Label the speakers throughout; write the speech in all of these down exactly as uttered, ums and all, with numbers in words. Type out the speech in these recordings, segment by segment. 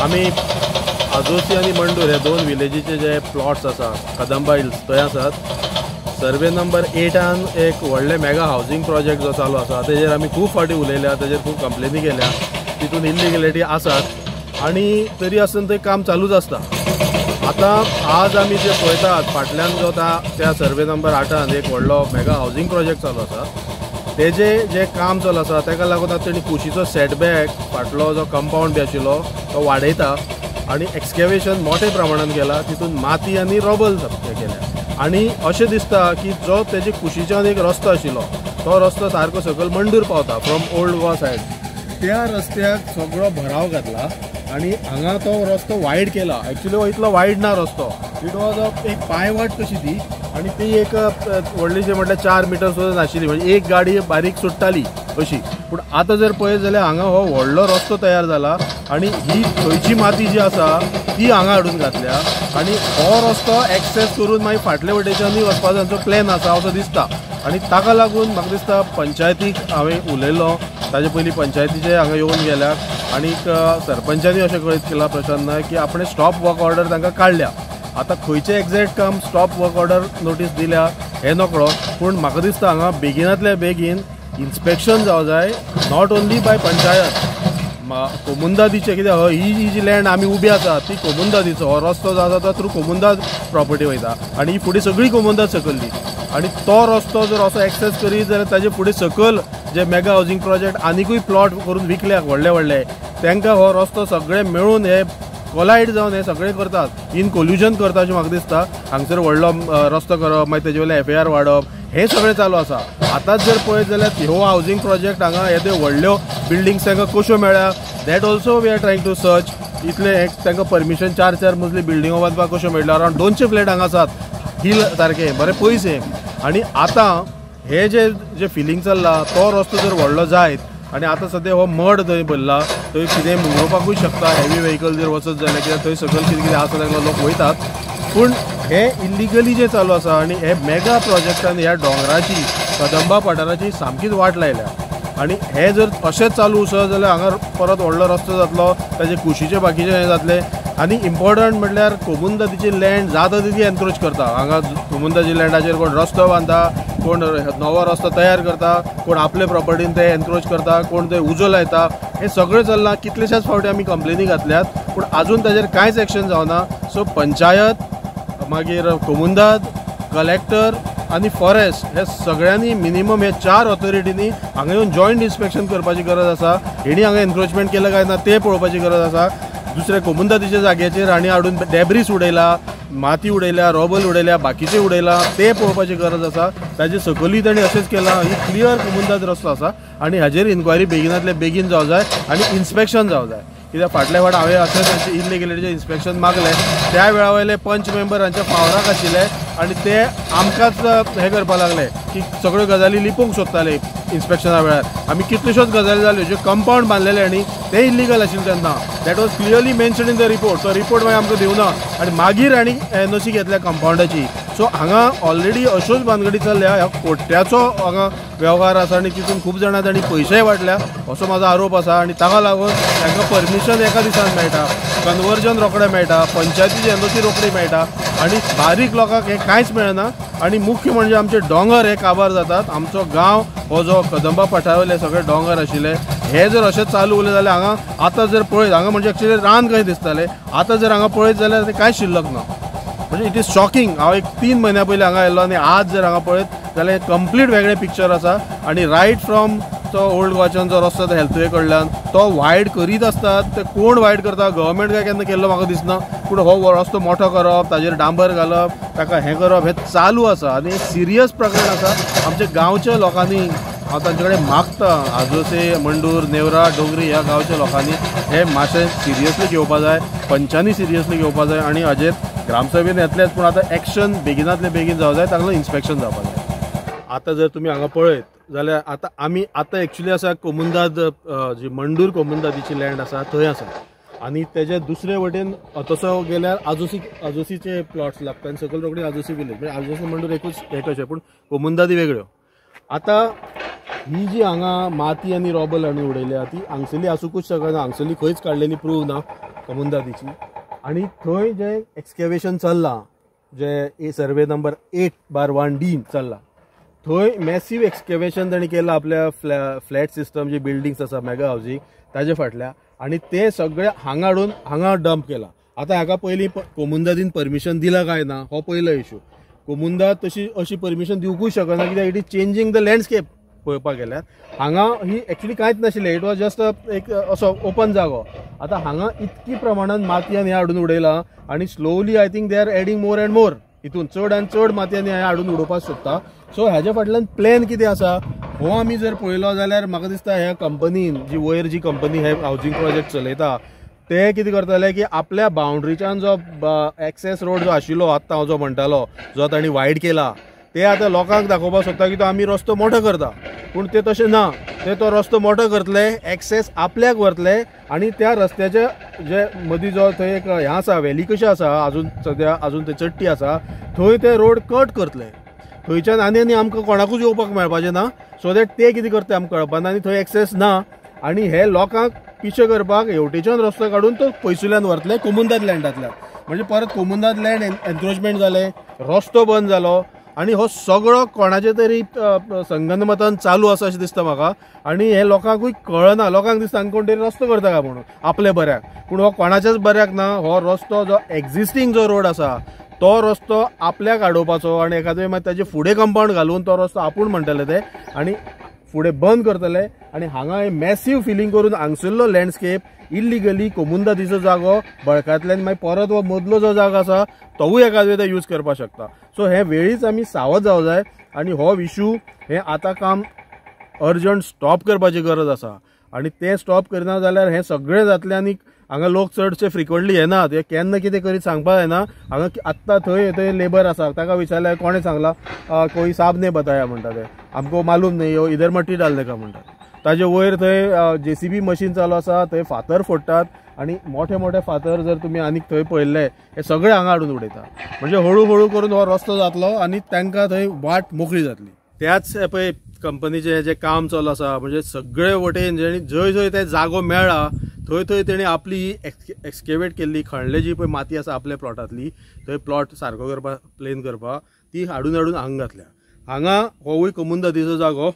Speaker 1: आमी आजोसी आनी मंडूर हे दोन विलेजीचे जे प्लॉट्स आसा कदंबा हिल्स थंय आसात. सर्वे नंबर एटान एक व्हडले मेगा हावजींग प्रोजेक्ट जो चालू आसा तेजेर आमी खूब फावटी उलयल्या, तेजेर खूब कंप्लेनी केल्या, तितून इल्लिगलिटी आसात आनी तरी आसून तें काम चालूच आसता. आतां आज आमी जे पळयतात फाटल्यान जो त्या सर्वे नंबर आठान एक व्हडलो मेगा हावजींग प्रोजेक्ट चालू आसा, तेजे जे काम चालू आसा ताका लागून आतां तेणी कुशीचो सेटबॅक फाटलो जो कंपावंड बी आशिल्लो तो वाडयता आनी एक्सकेवेशन मोठे प्रमाणान केला, तितून माती आनी रबल केल्या आनी अशें दिसता की जो तेजे कुशीच्यान एक रस्तो आशिल्लो तो रस्तो सारको सकयल मंडूर पावता फ्रॉम ओल्ड गोवा सायड, त्या रस्त्याक सगळो भराव घातला आनी हांगा तो रस्तो वायड केला. एक्चुअली हो इतलो वायड ना रस्तो, it was एक पांयवाट कशी ती आनी ती एक व्हडलीशी म्हटल्यार चार मिटर सुद्दां नाशिल्ली, म्हणजे एक गाडी बारीक सुट्टाली अशी. पूण आतां जर पळयत जाल्यार हांगा हो व्हडलो रस्तो तयार जाला आनी ही थंयची माती जी आसा ती हांगा हाडून घातल्या आनी हो रस्तो एक्सेस करून मागीर फाटले वटेच्यानूय वचपाचो तांचो प्लॅन आसा असो दिसता. आनी ताका लागून म्हाका दिसता पंचायतीक हांवें उलयलो, ताजे पयलीं पंचायतीचे हांगा येवन गेल्या आनीक सरपंचांनी अशें कळीत केलां प्रशांत नायक की आपणें स्टॉप वर्क ऑर्डर तांकां काडल्या. आतां खंयचें एग्जॅक्ट काम स्टॉप वर्क ऑर्डर नोटीस दिल्या हें नकळो, पूण म्हाका दिसता हांगा बेगिनांतल्या बेगीन इन्स्पेक्शन जावं जाय, not only by panchayat, कोमुंदादीचें कित्याक ही जी लँड आमी उबी आसा ती कोमुंदादीचो हो रस्तो जो आसा तो थ्रू कोमुंदाद प्रॉपर्टी वयता आनी ही फुडें सगळी कोमुंदाद सकयल्ली आनी तो रस्तो जर असो एक्सेस करीत जाल्यार ताजे फुडें सकयल जे मेगा हावजींग प्रोजेक्ट आनिकूय प्लॉट करून विकल्या व्हडले व्हडले तांकां हो रस्तो सगळे मेळून हे कोलायड जावन हे सगळे करतात, इन कोल्युजन करता अशें म्हाका दिसता. हांगसर व्हडलो रस्तो करप, मागीर तेजे वयल्यान एफ I R वाडप, हें सगळें चालू आसा. आतांच जर पळयत जाल्यार ह्यो हावजींग प्रोजेक्ट हांगा हे त्यो व्हडल्यो बिल्डिंग्स तांकां कश्यो मेळ्ळ्या that also we are trying to search. इतले तांकां परमिशन चार चार मजली बिल्डिंगो बांदपाक कश्यो मेळ्ळ्यो, अरावंड दोनशे फ्लॅट हांगा आसात हिल सारके बरे पयस हे. आनी आतां हे जे जे फिलींग चल्ला तो रस्तो जर व्हडलो जायत आनी आतां सद्या हो मड थंय भरला, थंय कितें मुंगोवपाकूय शकता हेवी व्हेकल जर वचत जाल्यार, कित्याक थंय सकयल कितें कितें आसा तांकां लोक वयतात. पूण हे इल्लिगली जें चालू आसा आनी हे मेगा प्रोजेक्टान ह्या दोंगराची कदंबा पठाराची सामकीच वाट लायल्या आनी हे जर अशेंच चालू उसत जाल्यार हांगा परत व्हडलो रस्तो जातलो, ताजे कुशीचे बाकीचे हें जातलें. आनी इम्पॉर्टंट म्हटल्यार कोमुंदादीची लँड जाता तितली एनक्रोच करता. हांगा कोमुंदादी लँडाचेर कोण रस्तो बांदता, कोण नवो रस्तो तयार करता, कोण आपले प्रॉपर्टीन ते एनक्रोच करता, कोण ते उजो लायता, हें सगळें चल्लां. कितलेश्याच फावटी आमी कंप्लेनी घातल्यात पूण आजून ताजेर कांयच एक्शन जावना. सो पंचायत, मागीर कोमुंदाद, कलेक्टर आनी फॉरेस्ट हे सगळ्यांनी मिनिमम हे चार ऑथॉरिटींनी हांगा येवन जॉयंट इन्स्पेक्शन करपाची गरज आसा. हेणी हांगा एनक्रोचमेंट केलां काय ना तें पळोवपाची गरज आसा. दुसरें कोमुंदादीच्या जाग्याचेर हांणी हाडून डेब्रीस उडयला, माती उडयल्या, रोबल उडयल्या, बाकीचें उडयला, तें पळोवपाची गरज आसा. ताजे सकयलूय ताणें अशेंच केलां. ही क्लियर कोमुंदाद रस्तो आसा आनी हाजेर इन्क्वायरी बेगिनांतले बेगीन जावं जाय आनी इन्स्पेक्शन जावं जाय. कित्याक फाटल्या फावट हांवें अशें तांचें इल्लिगलिटीचें इन्स्पेक्शन मागलें, त्या वेळा वयले पंच मेंबर हांच्या पावराक आशिल्ले आनी ते आमकांच हें करपाक लागले की सगळ्यो गजाली लिपोवंक सोदताले इन्स्पेक्शना वेळार. आमी कितल्योश्योच गजाली जाल्यो, ज्यो कंपावंड बांदलेले आनी ते इल्लिगल आशिल्ले तेन्ना, that was clearly mention in the report. तो रिपोर्ट मागीर आमकां दिवना आनी मागीर आनी एन ओ सी घेतल्या कंपावंडाची. सो हांगा ऑलरेडी अश्योच भानगडी चल्ल्या, ह्या कोट्याचो हांगा वेव्हार आसा आनी तितून खूब जाणां तांणी पयशेय वांटल्या असो म्हाजो आरोप आसा. आनी ताका लागून तांकां परमिशन एका दिसान मेळटा, कन्वर्जन रोखडें मेळटा, पंचायतीची एन ओ सी रोखडी मेळटा आनी बारीक लोकांक हें कांयच मेळना. आनी मुख्य म्हणजे आमचे दोंगर हे काबार जातात. आमचो गांव हो जो कदंबा पठावयले सगळे दोंगर आशिल्ले हे जर अशें चालू उरले जाल्यार हांगा आतां जर पळयत हांगा म्हणजे एक्चुअली रान कशें दिसतालें, आतां जर हांगा पळयत जाल्यार तें कांय शिल्लक ना. म्हणजे it is shocking. हांव एक तीन म्हयन्या पयलीं हांगा आयिल्लो आनी आज जर हांगा पळयत जाल्यार कंप्लीट वेगळें पिक्चर आसा. आनी रायट फ्रॉम तो ओल्ड गोवाच्यान जो रस्तो हेल्थवे कडल्यान तो वायड करीत आसतात, ते कोण वायड करता गव्हर्मेंट काय केन्ना केल्लो म्हाका दिसना, पूण हो रस्तो मोठो करप, ताजेर डांबर घालप, ताका हें करप हें चालू आसा आनी सिरियस प्रकरण आसा. आमच्या गांवच्या लोकांनी हांव तांचे कडेन मागता, आजोसे, मंडूर, नेवरा, डोंगरी ह्या गांवच्या लोकांनी हें मातशें सिरियसली घेवपा जाय, पंचांनी सिरियसली घेवपा जाय आनी हाजेर ग्रामसभेन येतलेच पूण आतां एक्शन बेगिनांतले बेगीन जावं जाय, ताका इन्स्पेक्शन जावपा जाय. आतां जर तुमी हांगा पळयत जाल्यार आतां आमी आतां एक्चुली आसा कोमुंदाद जी मंडूर कोमुंदादीची लँड आसा थंय आसा आनी तेजे दुसरे वटेन तसो गेल्यार आजोसी आजोसीचे प्लॉट्स लागता आनी सकयल रोखडी आजोसी विलेज, म्हणजे आजोसी मंडूर एकूच हें कशें पूण कोमुंदादी वेगळ्यो. आतां ही जी हांगा माती आनी रोबल हाडून उडयल्या ती हांगसरली आसूंकूच शकना. हांगसरली खंयच काडलेली प्रूव ना कोमुनिदादीची. आनी थंय जें एक्सकेवेशन चल्लां, जे survey number eight bar one D चल्लां, थंय मॅसीव एक्सकेवेशन तांणी केलां आपल्या फ्लॅ फ्लॅट सिस्टम जी बिल्डिंग्स आसा मेगा हावजींग ताजे फाटल्या, आनी ते सगळे हांगा हाडून हांगा डंप केलां. आतां हाका पयलीं कोमुनिदादीन परमिशन दिलां काय ना हो पयलो इशू. कोमुनिदाद तशी अशी परमिशन दिवकूच शकना कित्याक it is changing the landscape. पळोवपाक गेल्यार हांगा ही एक्चुली कांयच नाशिल्लें, it was just एक असो ओपन जागो. आतां हांगा इतकी प्रमाणान माती आनी हें हाडून उडयलां आनी slowly I think they are adding more and more, हितून चड आनी चड माती आनी हें हाडून उडोवपाक सोदता. सो हाज्या फाटल्यान प्लॅन कितें आसा हो आमी जर पळयलो जाल्यार म्हाका दिसता ह्या कंपनीन जी वयर जी कंपनी हे हावजींग प्रोजेक्ट चलयता ते कितें करतले की आपल्या बाउंड्रीच्यान जो एक्सेस रोड जो आशिल्लो आत्तां हांव जो म्हणटालो जो तांणी वायड केला ते आतां लोकांक दाखोवपाक सोदता की तो आमी रस्तो मोठो करता, पूण ते तशें ना. ते तो रस्तो मोठो करतले, एक्सेस आपल्याक व्हरतले आनी त्या रस्त्याचे जे मदीं जो थंय एक हें आसा व्हॅली कशी आसा आजून सद्या आजून थंय चट्टी आसा थंय ते रोड कट करतले. थंयच्यान आनी आनी आमकां कोणाकूच येवपाक मेळपाचें ना. सो that ते कितें करता आमकां कळपाक ना आनी थंय एक्सेस ना आनी हे लोकांक पिशे करपाक हेवटेच्यान रस्तो काडून तो पयसुल्यान व्हरतले कोमुनिदाद लँडांतल्यान. म्हणजे परत कोमुनिदाद लँड एन्क्रोचमेंट जालें, रस्तो बंद जालो आनी हो सगळो कोणाचे तरी संगनमतान चालू आसा अशें दिसता म्हाका. आनी हे लोकांकूय कळना, लोकांक दिसता हांगा कोण तरी रस्तो करता काय म्हणून आपल्या बऱ्याक, पूण हो कोणाच्याच बऱ्याक ना. हो रस्तो जो एक्झिस्टींग जो रोड आसा तो रस्तो आपल्याक आडोवपाचो आनी एखादे मागीर ताजे फुडें कंपावंड घालून तो रस्तो आपूण म्हणटले ते आनी फुडें बंद करतले. आनी हांगा हे मॅसीव फिलींग करून हांगसरलो लँडस्केप इल्लिगली कोमुनिदादीचो जागो बळकांतल्यान मागीर परत हो मदलो जो जागो आसा तोवूय एखादे ते यूज करपाक शकता. सो हे वेळीच आमी सावध जावं जाय आनी हो इशू हे आतां काम अर्जंट स्टॉप करपाची गरज आसा. आनी तें स्टॉप करना जाल्यार हें सगळें जातलें आनी हांगा लोक चडशे फ्रिक्वंटली येनात, हे केन्ना कितें करीत सांगपाक जायना. हांगा आत्तां थंय थंय लेबर आसा ताका विचारल्यार कोणें सांगलां कोई साहब ने बताया म्हणटा ते, आमकां मालूम न्ही हो इधर मट्टी डालने का म्हणटा. ताजे वयर थंय जे सी बी मशीन चालू आसा, थंय फातर फोडटात आनी मोठे मोठे फातर जर तुमी आनीक थंय पळयल्ले हे सगळे हांगा हाडून उडयता. म्हणजे हळू हळू करून हो रस्तो जातलो आनी तांकां थंय वाट मोकळी जातली. त्याच पळय कंपनीचें जें काम चालू आसा म्हणजे सगळे वटेन जेणी जंय जंय ते जागो मेळ्ळा थंय थंय तेणी आपली एक्सकेवेट केल्ली खणले जी पळय माती आसा आपल्या प्लॉटांतली थंय प्लॉट सारको करपाक प्लेन करपाक ती हाडून हाडून हांगा घातल्या. हांगा होवूय कोमुनिदादीचो जागो,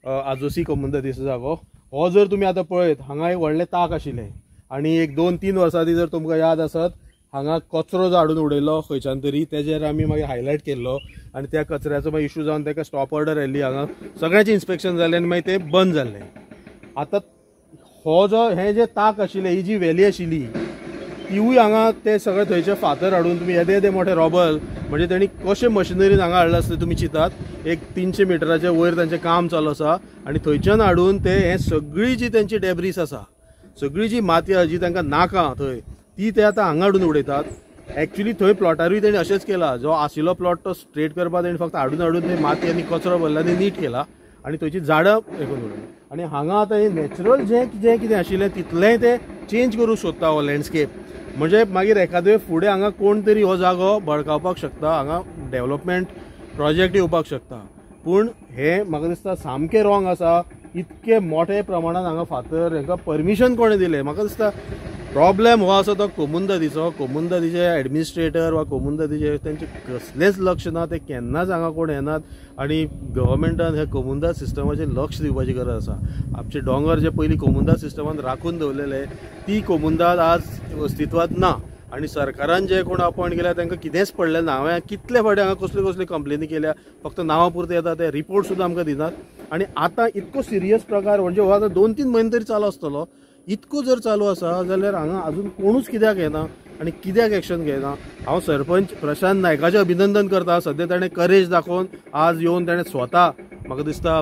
Speaker 1: आजोसी कोमुनिदादीचो जागो. हो जर तुमी आतां पळयत हांगा एक व्हडलें ताक आशिल्लें आनी एक दोन तीन वर्सां आदीं जर तुमकां याद आसत हांगा कचरो जो हाडून उडयलो खंयच्यान तरी तेजेर आमी मागीर हायलायट केल्लो आनी त्या कचऱ्याचो मागीर इशू जावन ताका स्टॉप ऑर्डर आयली. हांगा सगळ्यांचें इन्स्पेक्शन जालें आनी मागीर तें बंद जाल्लें. आतां हो जो हें जें ताक आशिल्लें ही जी व्हॅली आशिल्ली तिवूय हांगा ते सगळे थंयचे फातर हाडून तुमी येदे येदे मोठे रोबल म्हणजे तेणी कशें मशिनरीन हांगा हाडलां आसतलें तुमी चिंतात. एक तिनशे मिटराचे वयर तांचें काम चालू आसा आनी थंयच्यान हाडून ते हें सगळी जी तेंची डेब्रीस आसा सगळी जी माती आसा जी तांकां नाका थंय ती ते आतां हांगा हाडून उडयतात. एक्चुली थंय प्लॉटारूय तेणी अशेंच केलां, जो आशिल्लो प्लॉट तो स्ट्रेट करपाक तेणी फक्त हाडून हाडून ते माती आनी कचरो भरला आनी नीट केला आनी थंयची झाडां हे करून उडयली. आनी हांगा आतां हें नॅचरल जें जें कितें आशिल्लें तितलेंय ते चेंज करूंक सोदता हो लँडस्केप. म्हणजे मागीर एखादे फुडें हांगा कोण तरी हो जागो बळकावपाक शकता, हांगा डेवलपमेंट प्रोजेक्ट येवपाक शकता. पूण हें म्हाका दिसता सामकें रॉंग आसा. इतके मोठे प्रमाणान हांगा फातर हांकां परमिशन कोणें दिलें म्हाका दिसता प्रॉब्लेम हो आसा तो कोमुनिदादीचो. कोमुनिदादीचे एडमिनिस्ट्रेटर वा कोमुनिदादीचे तेंचें कसलेंच लक्ष ना, ते केन्नाच हांगा कोण येनात आनी गव्हर्मेंटान हे कोमुनिदाद सिस्टमाचेर लक्ष दिवपाची गरज आसा. आमचे दोंगर जे पयलीं कोमुनिदाद सिस्टमान राखून दवरलेले ती कोमुनिदाद आज अस्तित्वांत ना आनी सरकारान जे कोण अपॉयंट केल्या तांकां कितेंच पडलें ना. हांवें कितले फावटी हांगा कसल्यो कसल्यो कंप्लेनी केल्या, फक्त नांवां पुरते येता ते रिपोर्ट सुद्दां आमकां दिनात. आनी आतां इतको सिरियस प्रकार म्हणजे हो आतां दोन तीन म्हयने तरी चालू आसतलो, इतको जर चालू आसा जाल्यार हांगा अजून कोणूच कित्याक येना आनी कित्याक एक्शन घेयना. हांव सरपंच प्रशांत नायकाचें अभिनंदन करता, सद्या ताणें करेज दाखोवन आज येवन ताणें स्वता म्हाका दिसता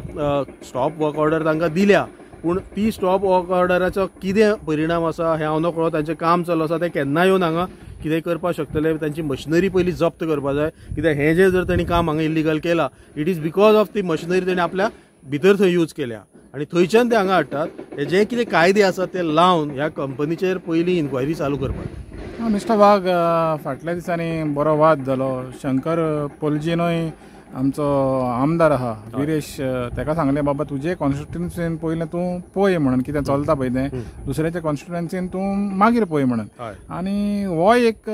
Speaker 1: स्टॉप वर्क ऑर्डर तांकां दिल्या. पूण ती स्टॉप वर्क ऑर्डराचो कितें परिणाम आसा हें हांव नकळो. तांचें काम चालू आसा, ते केन्ना येवन हांगा कितें करपाक शकतले. तांची मशिनरी पयलीं जप्त करपाक जाय, कित्याक हें जें जर तांणी काम हांगा इल्लिगल केलां it is because of ती मशिनरी तांणी आपल्या भितर थंय यूज केल्या आनी थंयच्यान ते हांगा हाडटात. हे जे कितें कायदे आसात ते लावन ह्या कंपनीचेर पयलीं इन्क्वायरी चालू करपाक.
Speaker 2: मिस्टर वाघ, फाटल्या दिसांनी बरो वाद जालो. शंकर पोलजीनूय आमचो आमदार आहा विरेश तेका सांगलें बाबा तुजे कॉन्स्टिट्युएन्सीन पयलें तूं पळय म्हणून कितें चलता पळय तें, दुसऱ्याच्या कॉन्स्टिट्युएन्सीन तूं मागीर पळय म्हणून. आनी हो एक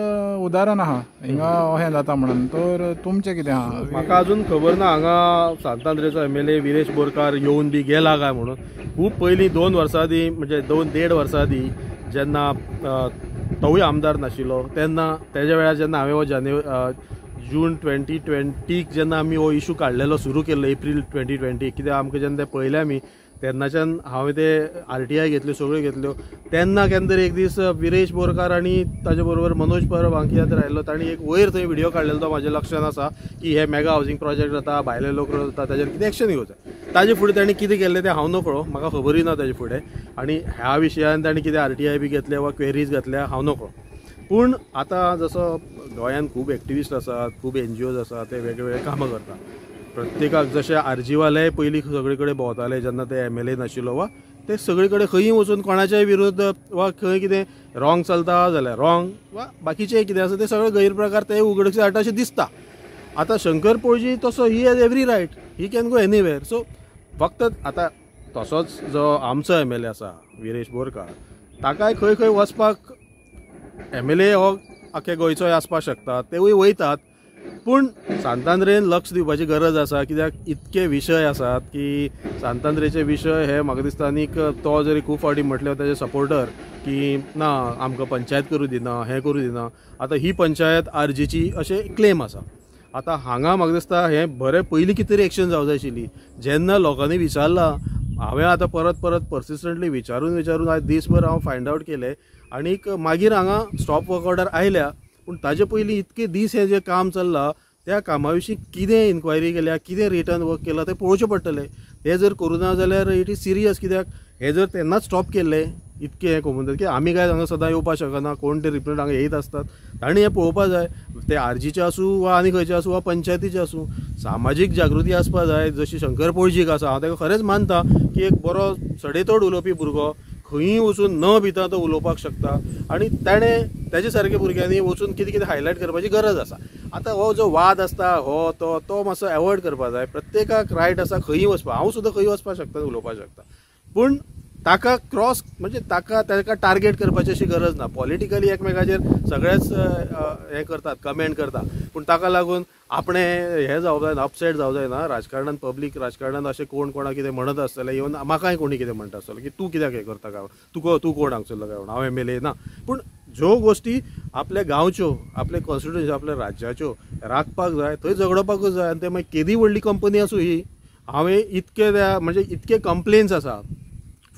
Speaker 2: उदाहरण आहा हिंगा अहें जाता म्हणून. तर तुमचें कितें आहा?
Speaker 1: म्हाका अजून खबर ना हांगा सांतांद्रेचो M L A Viresh Borkar येवन बी गेला काय म्हणून. खूब पयलीं दोन वर्सां आदीं म्हणजे दोन देड वर्सां आदीं जेन्ना तोवूय आमदार नाशिल्लो तेन्ना तेज्या वेळार जेन्ना हांवें हो जानेवारी जून ट्वेंटी ट्वेंटीक जेन्ना आमी हो इशू काडलेलो सुरू केल्लो एप्रील ट्वेंटी ट्वेंटी कित्याक आमकां जेन्ना तें पळयलें आमी तेन्नाच्यान हांवें ते आर टी I घेतल्यो सगळ्यो घेतल्यो. तेन्ना केन्ना तरी एक दीस विरेश बोरकार आनी ताजे बरोबर मनोज परब हांकां कित्याक तरी आयिल्लो, तांणी एक वयर थंय व्हिडियो काडलेलो तो म्हाज्या लक्षान आसा की हे मेगा हावजींग प्रोजेक्ट जाता भायले लोक जाता ताजेर कितें एक्शन घेवचें. ताजे फुडें तांणी कितें केल्लें तें हांव नकळो, म्हाका खबरूय ना ताजे फुडें. आनी ह्या विशयान तांणी कितें आर टी I बी घेतल्या वा क्वेरीज घातल्या हांव नकळो. पूण आतां जसो गोंयांत खूब एक्टिविस्ट आसात, खूब एन जी ओज आसात, ते वेगवेगळे कामां करतात. प्रत्येकाक जशे आरजीवाले पयलीं सगळे कडेन भोंवताले जेन्ना ते एम एल ए नाशिल्लो वा ते सगळे कडेन खंयी वचून कोणाच्याय विरुद्ध वा खंय कितें रॉंग चलता जाल्यार रॉंग वा बाकीचें कितें आसा ते सगळे गैरप्रकार ते उगडकीस हाडटा अशें दिसता. आतां शंकर पोळजी तसो he has every right, he can go anywhere. So फक्त आतां तसोच जो आमचो एम एल ए आसा विरेश बोरकार ताकाय खंय खंय वचपाक एम एल ए हो आख्या गोंयचोय आसपाक शकता, तेवूय वयतात. पूण सांतांद्रेन लक्ष दिवपाची गरज आसा कित्याक इतके विशय आसात की सांतांद्रेचे विशय हे म्हाका दिसता. आनीक तो जरी खूब फावटी म्हटले ताजे सपोर्टर की ना आमकां पंचायत करूं दिना, हें करूं दिना. आतां ही पंचायत आरजीची अशें क्लेम आसा. आतां हांगा म्हाका दिसता हें बरें पयलीं कितें तरी एक्शन जावं जाय आशिल्ली. जेन्ना लोकांनी विचारलां, हांवें आतां परत परत पर्सिस्टंटली विचारून विचारून आयज दीसभर हांव फायंड आवट केलें आनीक मागीर हांगा स्टॉप वर्क ऑर्डर आयल्या. पूण ताजे पयलीं इतके दीस हें जें काम चल्लां त्या कामा विशीं कितें इन्क्वायरी केल्या, कितें रिटर्न वर्क केलां तें पळोवचें पडटलें. तें जर करूं ना जाल्यार it is serious कित्याक हें जर तेन्नाच स्टॉप केल्लें इतकें हें कोमुनिदाद की आमी काय हांगा सदां येवपाक शकना, कोण ते रिप्रेझेंट हांगा येयत आसतात तांणी हें पळोवपाक जाय. ते आरजीचे आसूं वा आनी खंयचे आसूं वा पंचायतीचे आसूं, सामाजीक जागृती आसपाक जाय. जशी शंकर पोळजीक आसा, हांव ताका खरेंच मानता की एक बरो सडेतोड उलोवपी भुरगो खंयूय वचून न भिता तो उलोवपाक शकता आनी ताणें ताजे सारके भुरग्यांनी वचून कितें कितें हायलायट करपाची गरज आसा. आतां हो जो वाद आसता हो तो तो मातसो एवॉयड करपाक जाय. प्रत्येकाक रायट आसा खंयूय वचपाक, हांव सुद्दां खंय वचपाक शकता, उलोवपाक शकता, पूण ताका क्रॉस म्हणजे ताका ताका टार्गेट करपाची अशी गरज ना. पॉलिटिकली एकमेकाचेर सगळेच हें करतात, कमेंट करता, पूण ताका लागून आपणें हें जावं जायना, अपसेट जावं जायना. राजकारणान पब्लीक राजकारणान अशें कोण कोणाक कितें म्हणत आसतलें, इवन म्हाकाय कोणी कितें म्हणटा आसतलें की तूं कित्याक हें करता काय, तुका तूं कोण हांगसरलो काय म्हणून, हांव एम एल ए ना. पूण ज्यो गोश्टी आपल्या गांवच्यो, आपल्या कॉन्स्टिट्युएन्सी, आपल्या राज्याच्यो राखपाक जाय, थंय झगडोवपाकूच जाय. आनी ते मागीर केदी व्हडली कंपनी आसूं ही, हांवें इतके म्हणजे इतके कंप्लेन्स आसा.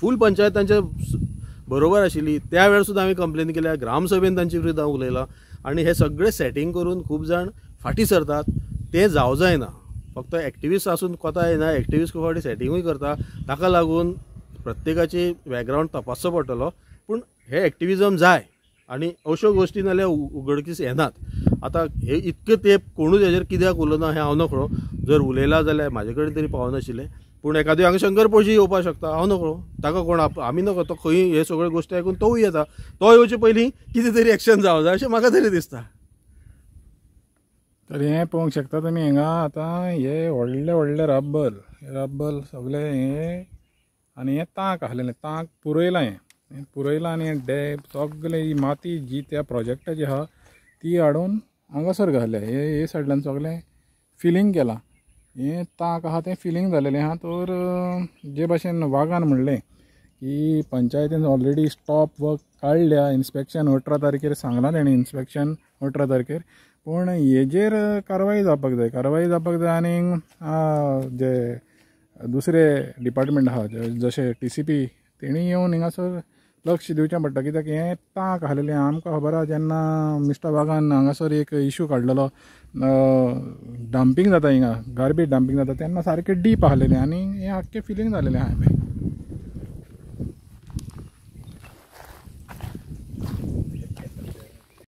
Speaker 1: फूल पंचायत तांच्या बरोबर आशिल्ली त्या वेळार सुद्दां हांवें कंप्लेन केल्या, ग्रामसभेन तांचे विरुद्ध हांव उलयलां. आनी हे सगळे सेटींग करून खूब जाण फाटीं सरतात, तें जावं जायना. फक्त एक्टिविस्ट आसून कोता येना, एक्टिविस्ट खूब फावटी सेटिंगूय करता. ताका लागून प्रत्येकाची बॅकग्रावंड तपासचो पडटलो. पूण हे एक्टिविजम जाय आनी अश्यो गोश्टी नाल्यार उगडकीस येनात. आतां हे इतके तेंप कोणूच हेजेर कित्याक उलोवना हें हांव नकळो. जर उलयला जाल्यार म्हाजे कडेन तरी पावनाशिल्लें. पूण एखाद्या हांगा शंकर पोळजी येवपाक शकता, हांव नकळो, ताका कोण आमी नकळो, तो खंय हे सगळे गोश्टी आयकून तोवूय येता. तो येवचे पयलीं कितें तरी एक्शन जावं जाय अशें म्हाका तरी दिसता.
Speaker 2: तर हें पळोवंक शकता तुमी हिंगा आतां हे व्हडले व्हडले रब्बल रब्बल सगळे हे आनी हें तांक आसलेलें, तांक पुरयलां, हें पुरयलां आनी हें डॅप सगळे ही माती जी त्या प्रोजेक्टाची आहा ती हाडून हांगासर घातल्या. हे हे सायडल्यान सगळें फिलींग केलां, हें तांक आहा तें फिलींग जालेलें आहा. तर जे भाशेन वागान म्हणलें की पंचायतीन ऑलरेडी स्टॉप वर्क काडल्या, इन्स्पेक्शन अठरा तारखेर सांगलां तेणें, इन्स्पेक्शन अठरा तारखेर, पूण हेजेर कारवाय जावपाक जाय, कारवाय जावपाक जाय. आनी जे दुसरे डिपार्टमेंट आहा जशे टी सी पी तेणी येवन हिंगासर लक्ष दिवचें पडटा, कित्याक हें तांक आसलेलें आमकां खबर आहा. जेन्ना मिस्टर वागान हांगासर एक इशू काडलेलो, डंपींग जाता हिंगा, गार्बेज डंपींग जाता, तेन्ना सारकें डीप आसलेलें आनी हें आख्खें फिलींग जालेलें आहा.